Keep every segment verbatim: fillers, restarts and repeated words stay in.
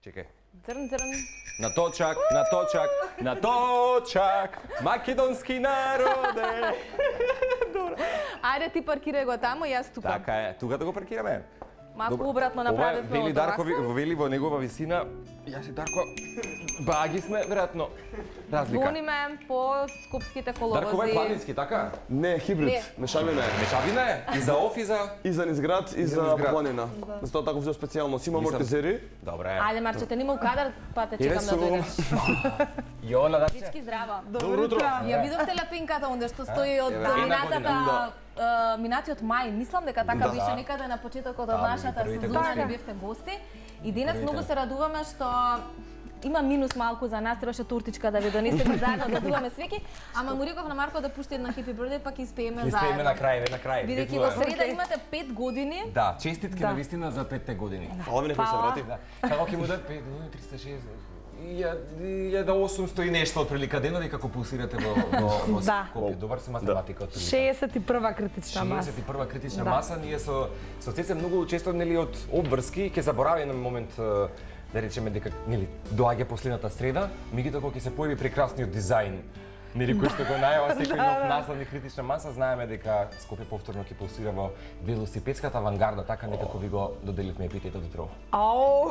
Чекај. Црн, црн. На точак, на точак, на точак, македонски народе. Добро. Ајде ти паркирај го таму, јас тука. Така е, тука да го паркираме. Малку обратно направивме Ова вели Дарко, овако. вели во негова висина. Јас и Дарко баги сме, веројатно. Разлика. Звониме по скопските коловози. Дарко, ова е планински, така? Не, хибрид, Не. мешавина е. Мешавина е? И за оф и за... И за низ град, и за низ град. планина. Затоа така взел специјално. Си има Мислам- амортизери. Добре. Ајде, Марчете, нима у кадар, па те Еве чекам да сум. дојдеш. Јона, да Всички здраво. Добро утро. Ја видовте лепинката онде што стои од Еве, една минатата, година. е, минатиот мај. Мислам дека така Да. беше некаде на почетокот од Да, нашата меѓу првите сезона гости. да бевте гости. И денес Првите. многу се радуваме што има минус малку за нас, требаше тортичка да ви донесеме заедно да дуваме свеки, ама му реков на Марко да пушти една Happy Birthday, пак испееме Ќе заедно. спееме на крај, на крај. Бидејќи Тоа во е. среда имате пет години. Да, честитки Да. на вистина за петте години. Фала ми некој се Фала. врати. Да. Како ќе му дадат пет, триста и шеесет, илјада осумсто и нешто од прилика денови како пулсирате во во во Да. Скопје. Добар се математика од прилика. шеесет и прва критична маса. шеесет и прва критична Да. маса, ние со со Цеце многу често нели од обврски ќе заборави на момент е, да речеме дека нели доаѓа последната среда, меѓутоа кога ќе се појави прекрасниот дизајн, нели кој што го најава секој нов наслов на критична маса, знаеме дека Скопје повторно ќе пулсира во велосипедската авангарда, така некако ви го доделивме епитетот утрово. Ау!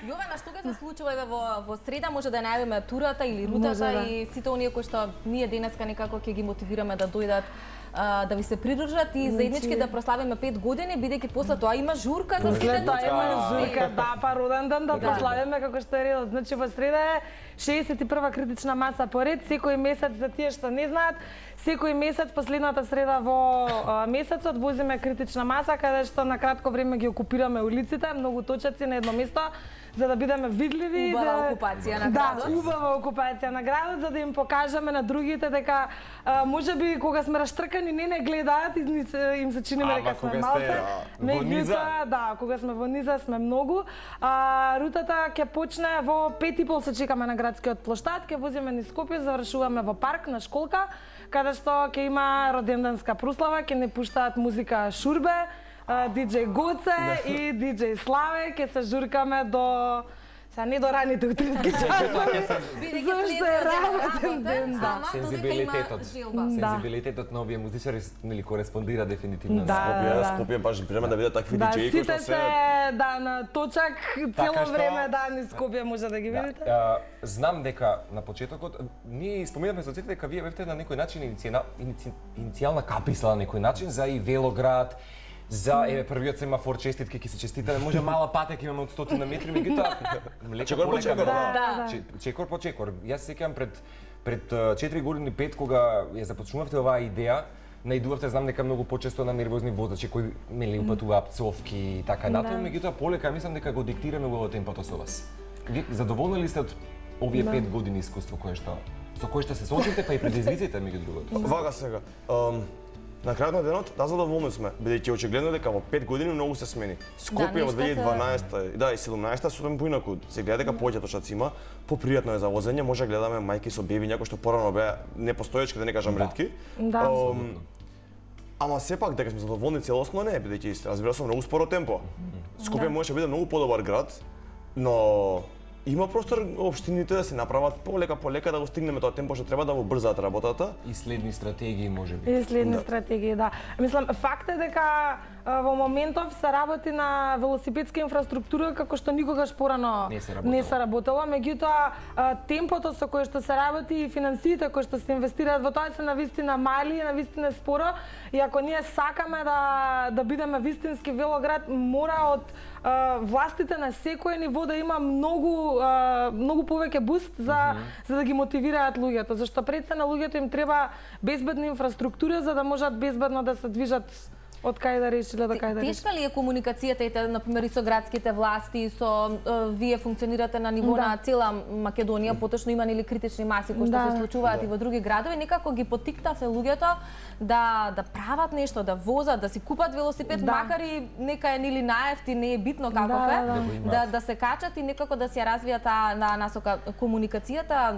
Јована, што ќе се случува еве во во среда, може да најавиме турата или рутата Може, да. и сите оние кои што ние денеска некако ќе ги мотивираме да дојдат а, да ви се придружат и заеднички да прославиме пет години, бидејќи после тоа има журка за сите. След тоа има дечица. журка, да, па роден ден да Да. прославиме како што е редот. Значи во среда е шеесет и прва критична маса поред, секој месец за тие што не знаат, секој месец последната среда во а, месецот возиме критична маса каде што на кратко време ги окупираме улиците, многу точаци на едно место за да бидеме видливи. Убава да... окупација на Да, градот. убава окупација на градот за да им покажеме на другите дека а, можеби кога сме раштркани не не гледаат и ни се- им се чиниме Ама дека сме кога сте, малце. а, во низа? Меѓутоа, да, кога сме во низа сме многу. А, рутата ќе почне во пет и пол се чекаме на градскиот плоштад, ќе возиме низ Скопје, завршуваме во парк на школка, каде што ќе има роденденска прослава, ќе не пуштаат музика Шурбе, а, диџеј Гоце и диџеј Славе, ќе се журкаме до Са не до раните утрински часови. Бидејќи Зашто е следниот ден работен ден, да. ама додека има Сензибилитетот. желба. Да. Сензибилитетот на овие музичари нели кореспондира дефинитивно Да. на Скопје. Скопје, да. Скопје баш време да видат такви Да, диџеи кои сите што се се да на точак цело Така што- време да низ Скопје може да ги видите. А, знам дека на почетокот ние споминавме со Цете дека вие бевте на некој начин иницијна, иници, иницијална каписла на некој начин за и велоград, за еве првиот семафор честитки ќе се честитаме, може мала патека имаме од стотина метри, меѓутоа лека Чекор по полека, чекор, да. да. Че- Чекор по чекор. Јас се сеќавам пред пред а, четири години пет кога ја започнувавте оваа идеја, наидувавте, знам дека многу почесто на нервозни возачи кои нели упатуваат пцовки и така натаму, меѓутоа полека мислам дека го диктираме го темпото со вас. Вие задоволни ли сте од овие Да. пет години искуство кое што со кое што се соочите, па и предизвиците меѓу другото? Вака сега. Ам, на крајот на денот, да, задоволни сме, бидејќи очигледно дека во пет години многу се смени. Скопје нешто во се- две илјади и дванаесета, да, и седумнаесета сосем поинаку. Се гледа дека повеќе точаци има, попријатно е за возење, може да гледаме мајки со беби, кои што порано беа непостоечки, да не кажам Да. ретки. Да. Ам, Ама сепак дека сме задоволни целосно не, бидејќи разбира се многу споро темпо. Скопје можеше да биде многу подобар град, но има простор општините да се направат полека полека да го стигнеме тоа темпо што треба да го брзаат работата. И следни стратегии можеби. И следни стратегии, да. Мислам, факт е дека а, во моментов се работи на велосипедска инфраструктура како што никогаш порано Не се работело. не се работело, меѓутоа а, темпото со кое што се работи и финансиите кои што се инвестираат во тоа се навистина мали и навистина споро и ако ние сакаме да да бидеме вистински велоград, мора од а, властите на секој ниво да има многу а, многу повеќе буст за mm -hmm. за да ги мотивираат луѓето, зашто пред се на луѓето им треба безбедна инфраструктура за да можат безбедно да се движат од кај да решиле до кај да решиле. Тешка ли е комуникацијата и на пример и со градските власти, со е, вие функционирате на ниво Да. на цела Македонија, поточно има нели критични маси кои што Да. се случуваат и во други градови, некако ги поттикнавте луѓето да да прават нешто, да возат, да си купат велосипед, Да. макар и нека е нели наевти, не е битно каков Да, е, да, да. Да го имаат. да да се качат и некако да се ја развијат таа на насока комуникацијата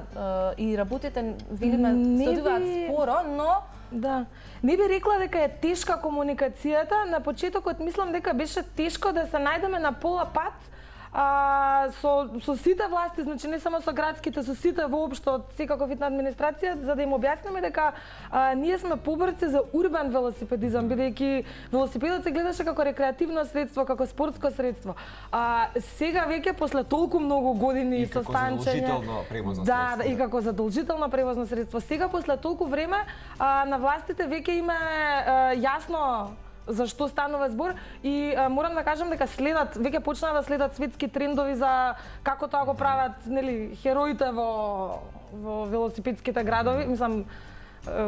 е, и работите велиме Не се одвиваат би- споро, но Да. Не би рекла дека е тешка комуникацијата. На почетокот мислам дека беше тешко да се најдеме на пола пат а, со, со сите власти, значи не само со градските, со сите воопшто од секаков вид на администрација, за да им објасниме дека а, ние сме поборци за урбан велосипедизам, бидејќи велосипедот се гледаше како рекреативно средство, како спортско средство. А, сега веќе после толку многу години со станчење, задолжително превозно да, средство. Да, и како задолжително превозно средство. Сега после толку време а, на властите веќе има а, јасно за што станува збор и а, морам да кажам дека следат, веќе почнаа да следат светски трендови за како тоа го прават, нели, хероите во во велосипедските градови, мислам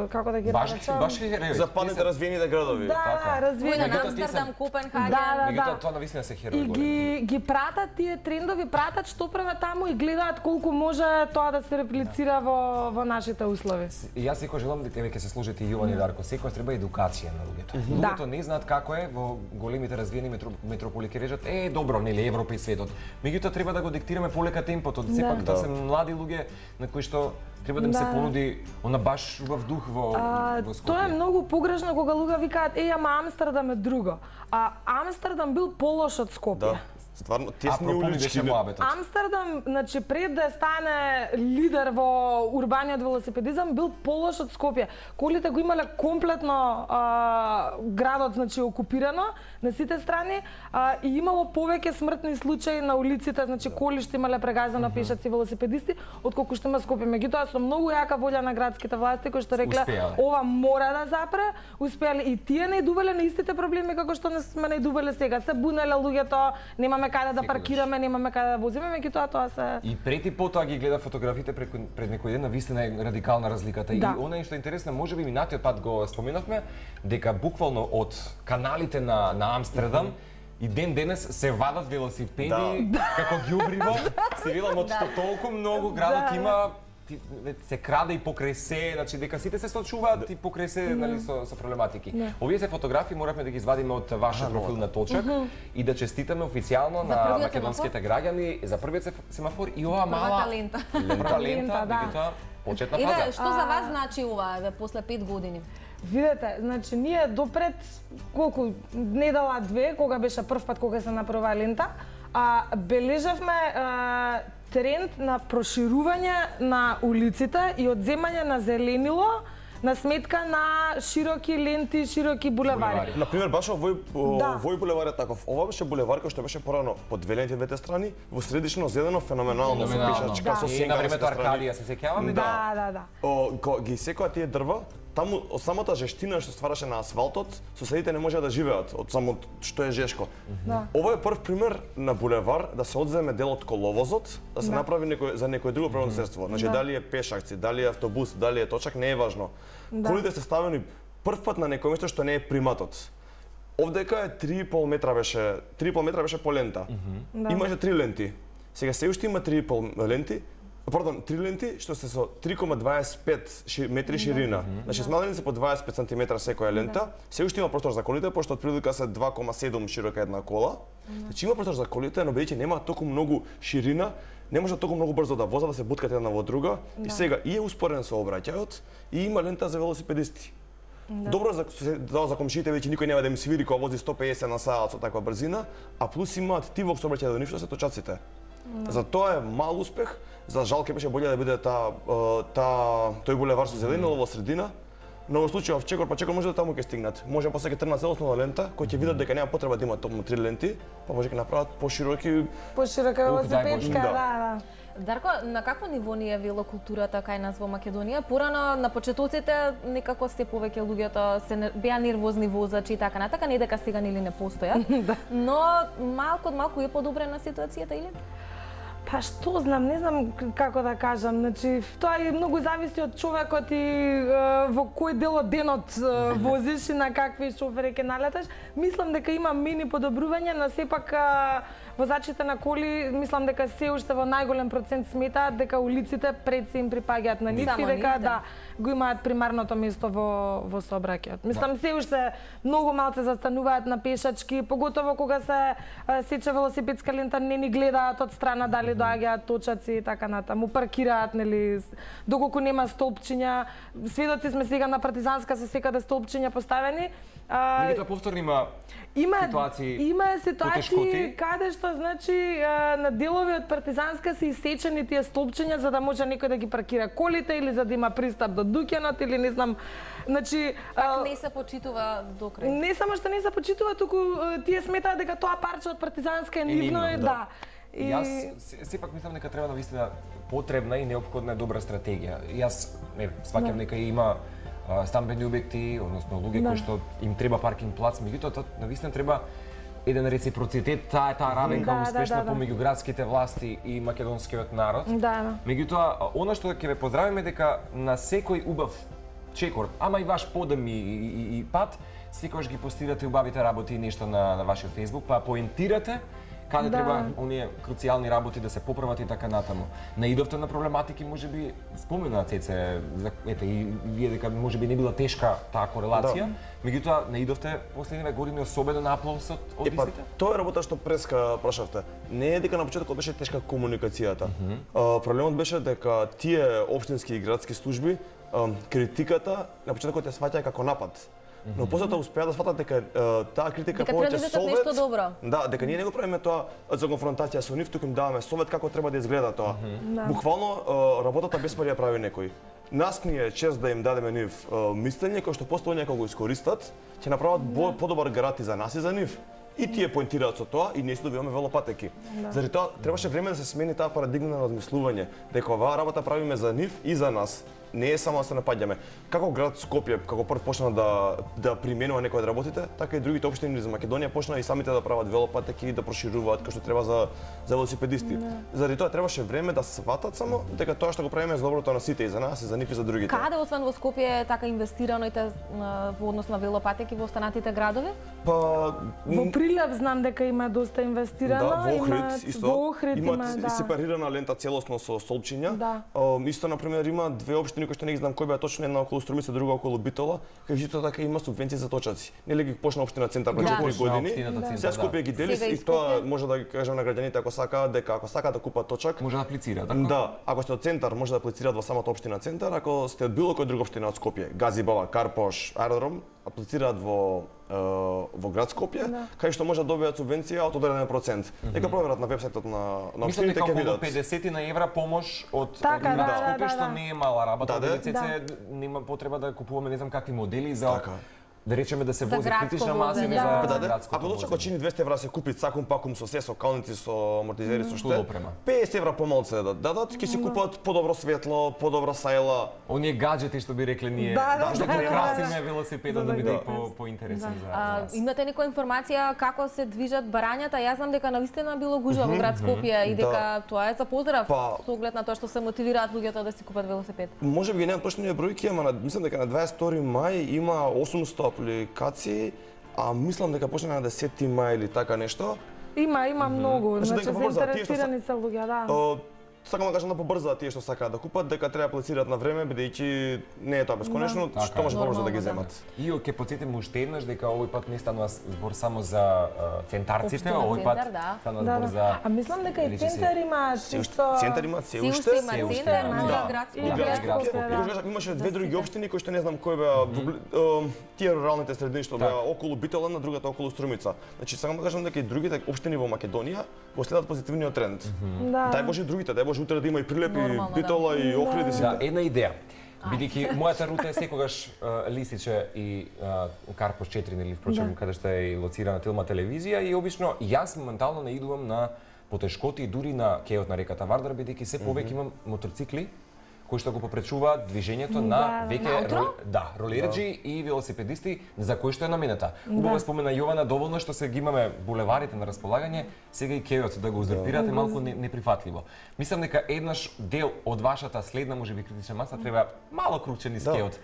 како да ги Баш, наречам? баш херои. Западните развиените градови. Да, Така. развиени. Во Меѓутоа, тие Амстердам, се- Копенхаген. Да, да. Меѓутоа тоа навистина се херои И големи. ги ги пратат тие трендови, пратат што према таму и гледаат колку може тоа да се реплицира во во нашите услови. И јас секој желам дека ќе се служите и Јован и Дарко, секој треба едукација на луѓето. Да. Луѓето не знаат како е во големите развиени метро, метрополи, ке речат е добро, нели Европа и светот. Меѓутоа треба да го диктираме полека темпото, сепак Да. тоа се млади луѓе на кои што треба да им се Да. понуди она баш убав дух во А, во Скопје. тоа е многу погрешно кога луѓе викаат еј ама Амстердам е друго. А Амстердам бил полош од Скопје. Да. Стварно тесни Апропо ми улички. беше моабетот. Амстердам, значи пред да стане лидер во урбаниот велосипедизам, бил полош од Скопје. Колите го имале комплетно а, градот, значи окупирано на сите страни а, и имало повеќе смртни случаи на улиците, значи коли што имале прегазано пешаци велосипедисти, отколку што има Скопје. Меѓутоа со многу јака волја на градските власти кои што рекле Успеале. ова мора да запре, успеале и тие најдувале на истите проблеми како што не сме најдувале сега. Се бунеле луѓето, немаме каде да Секогаш. паркираме, немаме каде да возиме, меѓутоа тоа се И пред и потоа ги гледа фотографите пред, пред некој ден, навистина е радикална разликата. Да. И она што е интересно, можеби минатиот пат го споменавме, дека буквално од каналите на, на Амстердам и ден денес се вадат велосипеди Да. како ѓубриво. Се видам од што толку многу градот Да. има ти, се краде и покрај се, значи дека сите се сочуваат и покрај се, нали, со, со проблематики. Овие се фотографии моравме да ги извадиме од вашиот профил на Точак и да честитаме официјално на првиот македонските граѓани за првиот сеф- семафор и ова мала Првата лента. лента, лента, Лента, да. меѓутоа почетна Еве, фаза. што за вас значи ова, еве, после пет години? Видете, значи ние допред колку недела две кога беше прв пат кога се направи лента, а бележавме а, тренд на проширување на улиците и одземање на зеленило на сметка на широки ленти, широки булевари. Булевари. Например, баш овој Да. овој булевар е таков. Ова беше булевар кој што беше порано по две ленти двете страни, во средично зелено феноменално со Феноменално. пешачка, со И сенка на времето на страни. Аркадија се сеќаваме. Да, да, да. О, ко, ги секоја тие дрва, таму од самата жештина што ствараше на асфалтот, соседите не можеа да живеат од само што е жешко. Да. Ова е прв пример на булевар да се одземе дел од коловозот, да се Да. направи некој за некој друго превозно средство. Значи Да. дали е пешакци, дали е автобус, дали е точак, не е важно. Да. Колите се ставени прв пат на некој место што не е приматот. Овдека е три и пол метра беше, три и пол метра беше по лента. Да. Имаше три ленти. Сега се уште има три и пол ленти, Пардон, три ленти што се со три кома дваесет и пет ши, метри ширина. Значи смалени се по дваесет и пет сантиметра секоја лента. Се уште има простор за колите, пошто отприлика се два кома седум широка една кола. Значи има простор за колите, но бидејќи нема толку многу ширина, не може толку многу брзо да возат, да се буткат една во друга. И сега и е успорен сообраќајот и има лента за велосипедисти. Добро за да, за комшиите веќе никој нема да им свири кога вози сто пеесет на саат со таква брзина, а плюс имаат тивок сообраќај да ништо се точаците. За тоа е мал успех. За жал ќе беше боле да биде таа таа тој булевар со зеленило во средина. Но во случајот в Чекор па Чекор може да таму ќе стигнат. Може после ќе тргнат целосно лента, кој ќе видат дека нема потреба да има токму три ленти, па може ќе направат пошироки. Поширока Ух, дај велосипедска, Боже. да, да. Дарко, на какво ниво ни е велокултурата кај нас во Македонија? Порано на почетоците некако сте повеќе луѓето се не, беа нервозни возачи и така натака, не дека сега нели не постојат. Но малку од малку е подобрена ситуацијата или? Па што знам, не знам како да кажам, значи тоа и многу зависи од човекот и е, во кој дел од денот е, возиш и на какви шофери ќе налеташ. Мислам дека има мини подобрување, но сепак е, возачите на коли мислам дека се уште во најголем процент сметаат дека улиците пред се им припаѓаат на нив Само и дека нив, да. да го имаат примарното место во во сообраќајот. Мислам се уште многу малце застануваат на пешачки, поготово кога се сече велосипедска лента, не ни гледаат од страна дали доаѓаат точаци и така натаму, паркираат, нели, доколку нема столпчиња. Сведоци сме сега на Партизанска се секаде столпчиња поставени. Меѓутоа повторно има Има ситуации, има ситуации потешкоти. каде што значи на делови од Партизанска се исечени тие столпчиња за да може некој да ги паркира колите или за да има пристап до дуќанот или не знам. Значи Пак не се почитува до крај. Не само што не се почитува, туку тие сметаат дека тоа парче од Партизанска е нивно и да. И јас сепак мислам дека треба навистина потребна и неопходна е добра стратегија. Јас не сваќам дека има стамбени објекти, односно луѓе кои што им треба паркинг плац, меѓутоа навистина треба еден реципроцитет, таа таа равенка успешна помеѓу градските власти и македонскиот народ. Да. Меѓутоа, она што ќе ве поздравиме дека на секој убав чекор, ама и ваш подем и, и, и пат, секогаш ги постирате убавите работи и нешто на, на вашиот Facebook, па поентирате каде да. треба оние круцијални работи да се поправат и така натаму. Наидовте на проблематики, можеби спомена Цеце, за, ете и вие дека можеби не била тешка таа корелација, да. Меѓутоа наидовте последниве години особено на аплаусот од Епа, истите? тоа е работа што преска прашавте. Не е дека на почетокот беше тешка комуникацијата. Mm -hmm. а, проблемот беше дека тие општински и градски служби а, критиката на почетокот ја сваќаа како напад. Но после тоа успеа да сватат дека таа критика повеќе совет. Нешто добро. Да, дека ние не го правиме тоа за конфронтација со нив, туку им даваме совет како треба да изгледа тоа. Mm -hmm. да. Буквално работата без пари ја прави некој. Нас ни е чест да им дадеме нив мислење кој што после некој го искористат, ќе направат да. подобар град и за нас и за нив. И тие поентираат со тоа и ние си добиваме велопатеки. Да. Заради тоа требаше време да се смени таа парадигма на размислување, дека оваа работа правиме за нив и за нас. Не е само да се напаѓаме. Како град Скопје, како прв почна да да применува некои од работите, така и другите општини за Македонија почна и самите да прават велопатеки и да прошируваат како што треба за за велосипедисти. Да. Заради тоа требаше време да сватат само дека тоа што го правиме е за доброто на сите и за нас и за нив и за другите. Каде освен во Скопје е така инвестирано и те во однос на велопатеки во останатите градови? Па во Прилеп знам дека има доста инвестирано, да, во Охрид исто. Во Охрид има, имаат да. сепарирана лента целосно со столпчиња. Да. Исто на пример има две општини кои што не ги знам кој беа точно, една околу Струмица, друга околу Битола, кај исто така има субвенции за точаци. Нели ги почна општина Центар пред четири години. Сега Скопје ги дели и тоа може да ги кажам на граѓаните ако сакаат дека ако сакаат да купат точак, може да аплицираат, така? Да, ако сте од Центар може да аплицираат во самата општина Центар, ако сте од било која друга општина од Скопје, Газибала, Карпош, Аеродром, аплицираат во во град Скопје, да. Кај што може да добијат субвенција од одреден процент. Нека проверат на вебсајтот на на општините ќе видат. Мислам дека педесет евра помош од така, град да, Скопје, да, што да. не е мала работа. Да, да. Цеце нема потреба да купуваме не знам какви модели за така. Да речеме да се вози критична маса или да. за Да, да. градско. Ако точно чини двесте евра се купи цакум пакум со се, со калници, со амортизери, со што? песет евра помалце да дадат, ќе си купат подобро светло, подобра сајла. Оние гаджети што би рекле ние, да, да, што да, украсиме да, велосипедот да биде по поинтересен за нас. Имате некоја информација како се движат барањата? Јас знам дека навистина било гужва во град Скопје и дека тоа е за поздрав со оглед на тоа што се мотивираат луѓето да си купат велосипед. Може би немам точни бројки, ама мислам дека на дваесет и втори мај има осумсто апликации, а мислам дека почна на десети мај или така нешто. Има, има многу, значи побрза, заинтересирани се луѓе, да. Сакам да кажам да побрзаат тие што сакаат да купат, дека треба аплицираат на време, бидејќи не е тоа бесконечно, да. што може побрзо да ги земат. И ќе потсетиме уште еднаш дека овој пат не станува збор само за центарците, овој пат станува збор за. А мислам дека и центар има чисто Центар има се уште, се уште, има градско. И градско. Имаше две други општини кои што не знам кои беа тие руралните средини што беа околу Битола, на другата околу Струмица. Значи сакам да кажам дека и другите општини во Македонија го следат позитивниот тренд. Дај Боже другите, дај Боже утре да има и Прилеп, и Битола, и Охрид, и сите. Да, една идеја. Бидејќи мојата рута е секогаш Лисиче и Карпош четири, нели впрочем, каде што е и лоцирана Тилма телевизија и обично јас моментално наидувам на потешкоти дури на кејот на реката Вардар, бидејќи се повеќе имам моторцикли кои што го попречуваат движењето на веќе да, ролериџи и велосипедисти за кои што е наменета. Убаво спомена Јована, доволно што се ги имаме булеварите на располагање, сега и кејот да го узурпирате малку неприфатливо. Мислам дека еднаш дел од вашата следна можеби критична маса треба мало круче низ кејот.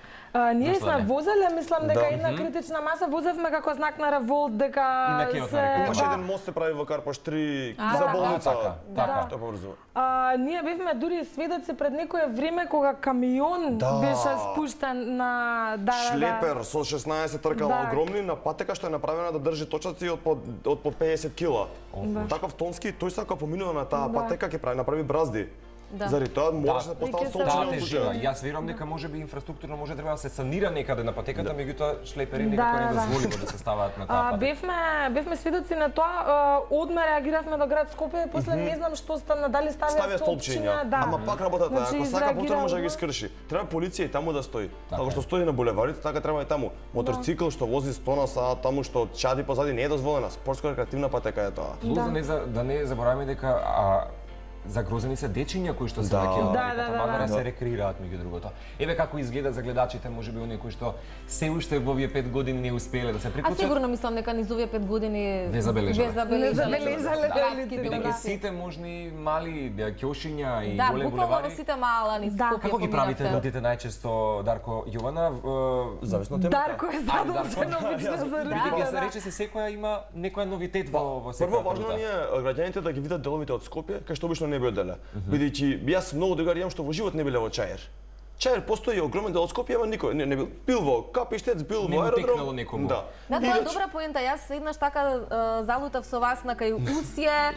Ние сме возеле, мислам дека една критична маса возевме како знак на револт дека се имаше еден мост се прави во Карпош три за болница. Така, тоа побрзо. Ние бевме дури сведоци пред некое време време кога камион Да. беше спуштен на да, Шлепер да, со шеснаесет тркала Да. огромни на патека што е направена да држи точаци од по од по педесет кила. Да. Таков тонски, тој сака поминува на таа Да. патека ќе прави направи бразди. Да. Заради тоа мораше Да. да постават И ќе се столчиња Таа од тежина. случај. Јас верувам дека можеби инфраструктурно може треба да се санира некаде на патеката, меѓутоа шлепери Да, некако не да, да. дозволиво да се ставаат на таа А, патека. бевме бевме сведоци на тоа, а, одме реагиравме до град Скопје, после не знам што стана, дали ставија Ставија столчиња, столчиња, да. ама пак работата, Значи, ако сака повторно може да ги изреагирало. скрши. Треба полиција и таму да стои. Така Како е. што стои на булеварите, така треба и таму. Моторцикл што вози сто на сат, таму што чади позади не е дозволена. Спортско-рекреативна патека е тоа. Плюс да не за да не забораваме дека а, загрозени се дечиња кои што се Да. веќе Да, да, да, да, да. се рекреираат меѓу другото. Еве како изгледа за гледачите, можеби оние кои што се уште во овие пет години не успеале да се А приклучат. сигурно мислам дека низ овие пет години Ве забележале. ве забележале. Не забележале, Да, да, градски Бидејќи биографии. сите можни мали да, ќошиња и Да, големи буквално во булевари. сите мала низ Да. Скопје Како ги правите поминавте. рутите најчесто, Дарко, Јована? Е, Зависно од темата. Дарко е Ајде, задолжен Дарко. обично за Бидејќи рутите, се да. рече се секоја има некоја новитет во во секоја Прво важно рута. ни е граѓаните да ги видат деловите од Скопје, кај што обично не би оделе. Бидејќи јас многу другари имам што во живот не биле во Чаир. Чаир постои огромен дел од Скопје, ама никој не, не бил. Бил во Капиштец, бил Не во му аеродром. текнало некому. Да. Да, И тоа е значи- добра поента. Јас еднаш така е, залутав со вас на кај Усје.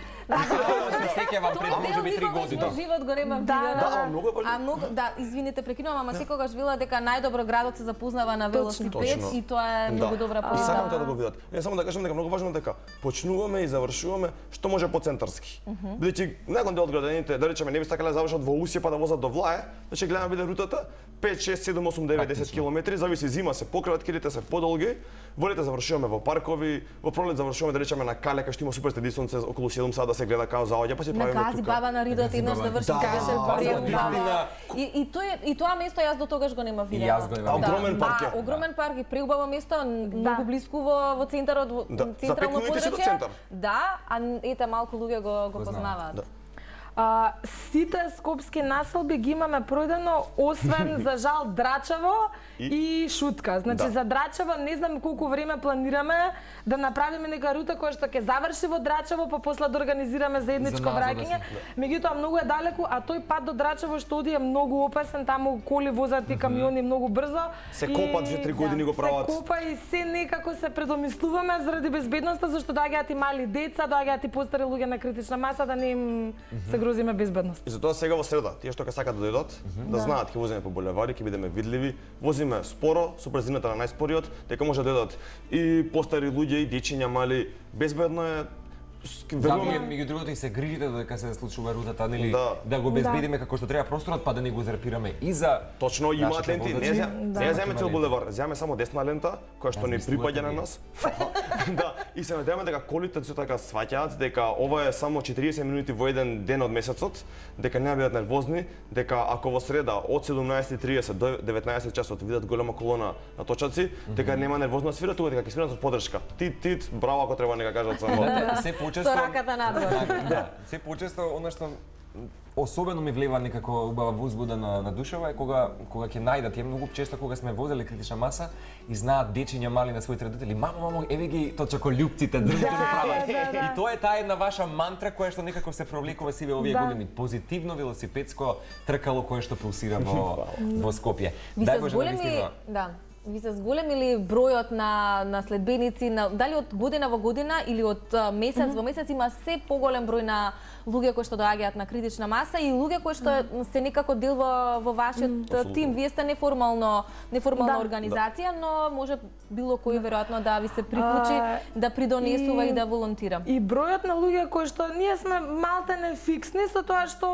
се сеќавам пред можеби три години. Тоа живот го немам Да, видено. Да, ама многу е важно. А многу, да, извините, прекинувам, ама секогаш вела дека најдобро градот се запознава на велосипед Точно. и тоа е многу добра И сакам поента. тоа да го видат. Не само да кажам дека многу важно дека почнуваме и завршуваме што може поцентарски. Бидејќи некој дел од граѓаните, да речеме, не би сакале да завршат во Усје па да возат до Влае, значи гледаме биде рутата пет, шест, седум, осум, девет, десет километри, зависи зима се пократки, лете се подолги. Во лете завршуваме во паркови, во пролет завршуваме да речеме на Кале кај што има супер стадион сонце околу седум сада да се гледа као заоѓа, па си На правиме Гази тука. баба на Ридот еднаш да врши Да, беше да, преубава. И и тоа и тоа место јас до тогаш го немав видено. јас го немав видено. Огромен парк е. Да, огромен парк и преубаво место, многу блиску во во центарот, во Да, за централно пет минути си до подрачје. центар. Да, а ете малку луѓе го го Го знаат. познаваат. Да. А, сите скопски населби ги имаме пројдено, освен за жал Драчево и, И? и Шутка. Значи Да. за Драчево не знам колку време планираме да направиме нека рута која што ќе заврши во Драчево, па после да организираме заедничко За назад да враќање. се- Меѓутоа многу е далеку, а тој пат до Драчево што оди е многу опасен, таму коли возат и камиони многу брзо. Се И- копат, две три години го прават. Се копа и се некако се предомислуваме заради безбедноста, зашто доаѓаат и мали деца, доаѓаат и постари луѓе на критична маса, да не им се грозиме безбедност. И затоа сега во среда, тие што ќе сакат да дојдат, да знаат ќе возиме по булевари, ќе бидеме видливи, возиме споро, со брзината на најспориот, дека може да дојдат и постари луѓе и дечиња мали, безбедно е. с- Да, Верувам, меѓу меѓу другото и се грижите додека се случува рутата, нели? Да. Да го безбедиме како што треба просторот, па да не го зарпираме и за точно имаат нашите ленти, не возачи. зем, Да. не ја земе Има цел ленти. булевар, земе само десна лента, која што ни Размислувате припаѓа на вие. нас. Да, и се надеваме дека колите се така сваќаат дека ова е само четириесет минути во еден ден од месецот, дека не бидат нервозни, дека ако во среда од седумнаесет и триесет до деветнаесет часот видат голема колона на точаци, дека нема нервозно да свират, тука дека ќе свират со поддршка. Тит, тит, браво ако треба нека кажат само. Знаете, се Со почесто раката надвор. да, се почесто она што особено ми влева некако убава возбуда на, на душева е кога кога ќе најдат, ја многу често кога сме возели критична маса и знаат дечиња мали на своите родители, мамо, мамо, еве ги точаколюбците, држите да прават. да, да. И тоа е таа една ваша мантра која што некако се провлекува сиве овие Да. години, позитивно велосипедско тркало кое што пулсира во во Скопје. Ви Дај се Боже зголеми, навистина. да. Ви се зголемили бројот на на следбеници, на дали од година во година или од а, месец mm -hmm. во месец има се поголем број на луѓе кои што доаѓаат на критична маса и луѓе кои што mm -hmm. се некако дел во во вашиот mm -hmm. тим. Вие сте неформално неформална Да. организација, но може било кој веројатно да ви се приклучи, А, да придонесува и, и- да волонтира. И бројот на луѓе кои што ние сме малтене фиксни со тоа што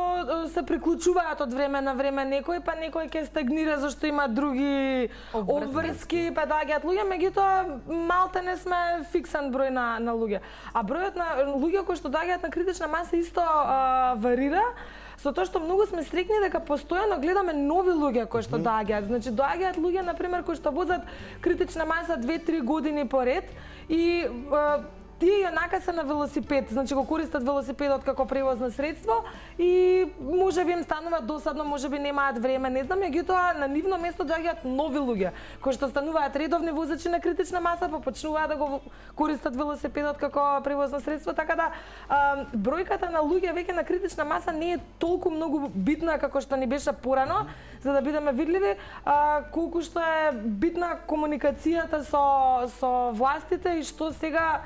е, се приклучуваат од време на време некој, па некој ќе стагнира зашто има други Обврски. обврски, па доаѓаат луѓе, меѓутоа малтене сме фиксен број на на луѓе. А бројот на луѓе кои што доаѓаат на критична маса исто а, варира. Со тоа што многу сме среќни дека постојано гледаме нови луѓе кои што доаѓаат. Значи доаѓаат луѓе на пример кои што возат критична маса две-три години поред и а, тие јонака се на велосипед, значи го користат велосипедот како превозно средство и можеби им станува досадно, можеби немаат време, не знам, меѓутоа на нивно место доаѓаат нови луѓе кои што стануваат редовни возачи на критична маса, па почнуваат да го користат велосипедот како превозно средство, така да а, бројката на луѓе веќе на критична маса не е толку многу битна како што ни беше порано, за да бидеме видливи, а, колку што е битна комуникацијата со со властите и што сега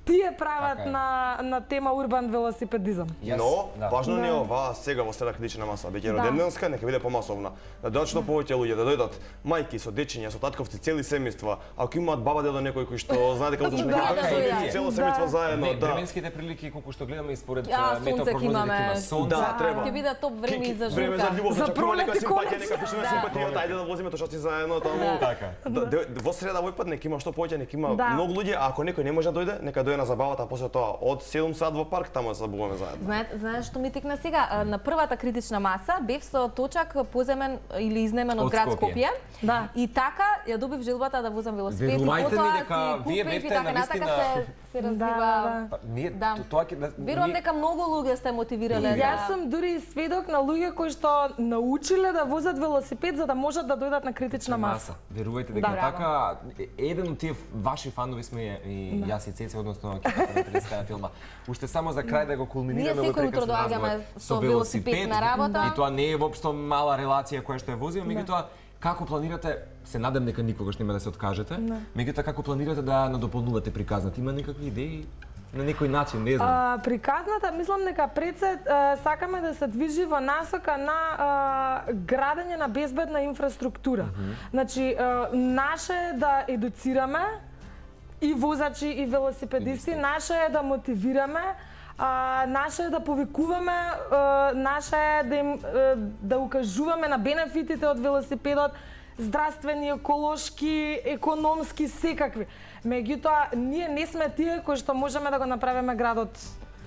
тие прават Така е. на на тема урбан велосипедизам. Јас- Но, да. важно не е Да. ова сега во среда критична маса, веќе Да. роденденска, нека биде помасовна. Да дојдат што повеќе луѓе, да дојдат мајки со дечиња, со татковци, цели семејства, ако имаат баба дедо некој кој што знае дека утре Да, нека да, дојде да. цело Да. семејство заедно, Не, да. временските прилики колку што гледаме и според Ја, а, сонце ќе метеопрогнозите имаме. ќе има сонце. Да, треба. Ќе биде топ време и за Време за журка. љубов, За значи ако има нека пролет и симпатија, конец. нека пишеме Да. симпатијата, ајде да возиме тошаци заедно таму. Така. Да, де- во среда овој пат нека има што повеќе, нека има Да. многу луѓе, а ако некој не може да дојде, нека дојде на забавата, а после тоа од седум сат во парк таму да се забавуваме заедно. Знаете, знаеш што ми текна сега? А, На првата критична маса бев со точак поземен или изнемен од Од град Скопје. Скопје. Да. И така ја добив желбата да возам велосипед. Верувајте ми и потоа дека си вие купив и бевте така натака навистина- се се развива. Да, Па, ние Да. то- тоа ќе да Верувам ние- дека многу луѓе сте мотивирале И да. Јас сум дури и сведок на луѓе кои што научиле да возат велосипед за да можат да дојдат на критична маса. Верувајте дека Да. така е- еден од тие ваши фанови сме и јас и Цеце, односно екипата на телевизиската филма. Уште само за крај да го кулминираме Ние овој секој утро прекрасен доаѓаме разговор со велосипед на работа. И тоа не е воопшто мала релација која што ја возиме, меѓутоа како планирате, се надам дека никогаш нема да се откажете, меѓутоа како планирате да надополнувате приказната? Има некакви идеи на некој начин, не знам. А, приказната, мислам дека пред се а, сакаме да се движи во насока на а, градење на безбедна инфраструктура. Значи, а, наше е да едуцираме и возачи и велосипедисти, наше е да мотивираме, а, наше е да повикуваме, а, наше е да им а, да укажуваме на бенефитите од велосипедот, здравствени, еколошки, економски, секакви. Меѓутоа, ние не сме тие кои што можеме да го направиме градот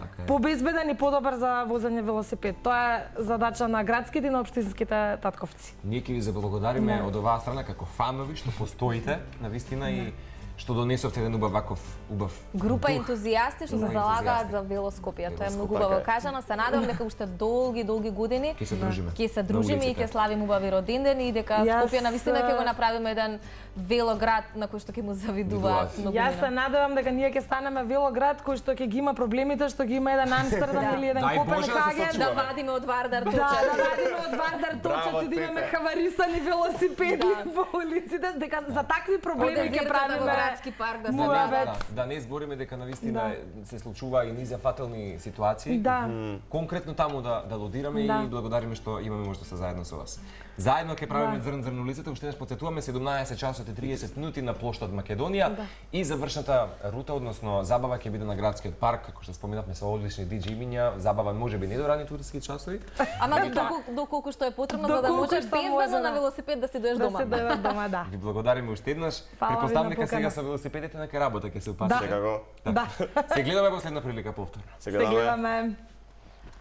Така е. побезбеден и подобар за возење велосипед. Тоа е задача на градските и на општинските татковци. Ние ќе ви заблагодариме од оваа страна како фанови што постоите навистина и што донесовте еден убав ваков убав Група дух. ентузијасти што се Група залагаат ентузијасти. за велоскопија. Тоа е Велоскопија, многу убаво така е. кажано. Се надевам дека уште долги, долги години Ќе се дружиме. ќе се На дружиме и улиците. ќе славиме убави родендени и дека Јас, Скопје навистина ќе го а, направиме еден велоград на кој што ќе му завидуваат Видуваат. многу. Јас се надевам дека ние ќе станеме велоград кој што ќе ги има проблемите што ги има еден Амстердам Да. или еден Дај Боже да се Копенхаген. сочуваме. Да вадиме од Вардар Да, точат. да вадиме од Вардар Браво, точат и да имаме Цеце. хаварисани велосипеди Да. во улиците, дека за такви проблеми Од ќе дезертата правиме во градски парк да се муабет. Да, да не збориме дека навистина се случува и низа фатални ситуации. Да. Конкретно таму да да лодираме Да. и благодариме што имаме можност да се заедно со вас. Заедно ќе правиме Да. зрн зрн улицата, уште еднаш потсетуваме седумнаесет часот и триесет минути на плоштад Македонија и завршната рута, односно забава ќе биде на градскиот парк, како што споменавме со одлични диџеи имиња, забава можеби не до рани туриски часови. Ама доколку доколку што е потребно за да Доколку можеш што може, безбедно да. на велосипед да си доеш Да дома. се дојдат дома, да. Ви благодариме уште еднаш. Фала ви Предпоставам на дека сега покана. со велосипедите нека работа ќе се упатите. Секако. Да. Се гледаме во следна прилика повторно. Се Се гледаме. гледаме.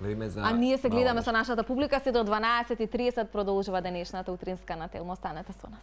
Гледаме за А ние се гледаме мало со нашата публика се до дванаесет и триесет продолжува денешната утринска на Телмо. Останете со нас.